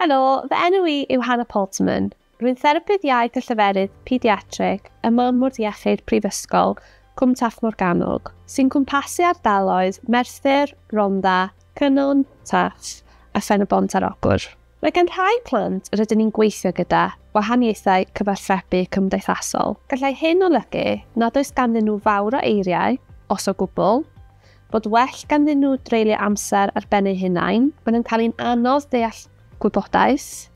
Helo, fy enw i yw Hannah Poltermann. Rwy'n therapydd iaith a lleferydd pediatrig ym Mwrdd Iechyd Prifysgol Cwm Taf Morgannwg, sy'n cwmpasu ardaloedd Merthyr, Rhondda, Cynon, Taf a Phen-y-bont ar Ogwr. Mae gan rhai plant rydyn ni'n gweithio gyda wahaniaethau cyfathrebu cymdeithasol. Gallai hyn olygu nad oes ganddyn nhw fawr o eiriau, os o gwbl, bod well ganddyn nhw dreulio amser ar ben eu hunain, maen nhw'n cael hi'n anodd deall gwybodaeth,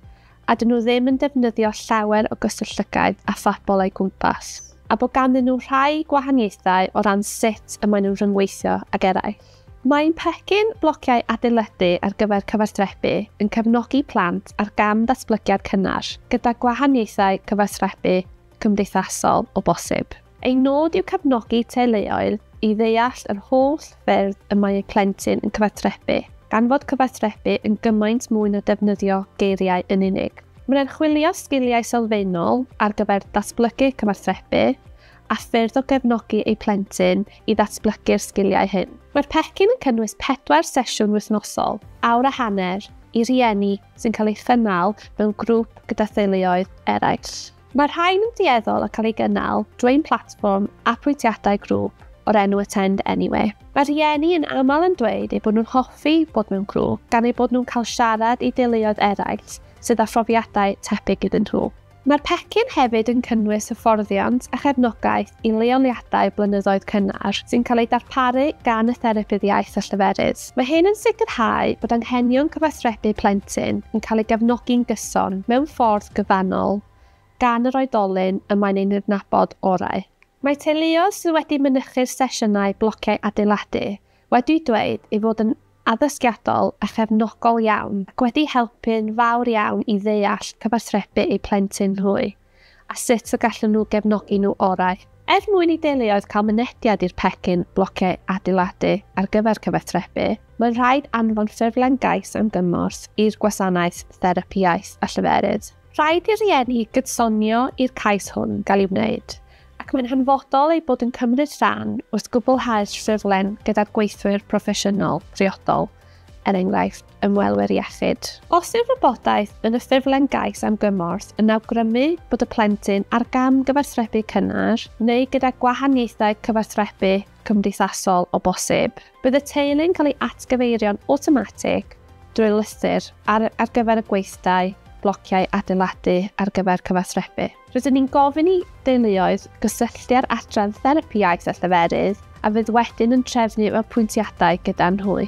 a dyn nhw ddim yn defnyddio llawer o gyswllt llygaid a phobl o'u cwmpas, a bod ganddyn nhw rhai gwahaniaethau o ran sut y maen nhw'n rhyngweithio ag eraill. Mae'n pecyn blociau adeiladu ar gyfer cyfathrebu yn cefnogi plant ar gam datblygiad cynnar gyda gwahaniaethau cyfathrebu cymdeithasol o bosib. Ein nod yw cefnogi teuluoedd i ddeall yr holl ffyrdd y mae eu plentyn yn cyfathrebu, gan fod cyfathrebu yn gymaint mwy na defnyddio geiriau yn unig. Mae'n archwilio sgiliau sylfaenol ar gyfer datblygu cyfathrebu a ffyrdd o gefnogi eu plentyn i ddatblygu'r sgiliau hyn. Mae'r pecyn yn cynnwys 4 sesiwn wythnosol, awr a hanner, i rieni sy'n cael ei chynnal mewn grŵp gyda theuluoedd eraill. Mae'r rhain yn dueddol o cael ei gynnal drwy ein platfform apwyntiadau grŵp o'r enw Attend Anyway. Mae rhieni yn aml yn dweud eu bod nhw'n hoffi bod mewn grŵp gan eu bod nhw'n cael siarad i deuluoedd eraill sydd â phrofiadau tebyg iddyn nhw. Mae'r pecyn hefyd yn cynnwys hyfforddiant a chefnogaeth i leoliadau blynyddoedd cynnar sy'n cael ei darparu gan y therapydd iaith a lleferydd. Mae hyn yn sicrhau bod anghenion cyfathrebu plentyn yn cael ei gefnogi'n gyson mewn ffordd gyfannol gan yr oedolyn y mae'n ei adnabod orau. Mae teuluoedd sydd wedi mynychu'r sesiynau blociau adeiladu wedi dweud ei fod yn addysgiadol a chefnogol iawn ac wedi helpu'n fawr iawn i ddeall cyfathrebu eu plentyn hwy a sut y gallan nhw gefnogi nhw orau. Er mwyn i deuluoedd cael mynediad i'r pecyn blociau adeiladu ar gyfer cyfathrebu, mae'n rhaid anfon ffurflen gais am gymorth i'r gwasanaeth therapi iaith a lleferydd. Rhaid i rieni gydsonio i'r cais hwn gael ei wneud, ac mae'n hanfodol eu bod yn cymryd rhan wrth gwblhau'r ffurflen gyda'r gweithwyr proffesiynol priodol, er enghraifft ymwelwyr iechyd. Os yw'r wybodaeth yn y ffurflen gais am gymorth yn awgrymu bod y plentyn ar gam gyfathrebu cynnar neu gyda gwahaniaethau cyfathrebu cymdeithasol o bosib, bydd y teulu'n cael ei atgyfeirio'n awtomatig drwy lythyr ar gyfer y gweithdai blociau adeiladu ar gyfer cyfathrebu. Rydyn ni'n gofyn i deuluoedd gysylltu â'r adran therapi iaith a lleferydd a fydd wedyn yn trefnu apwyntiadau gyda nhw.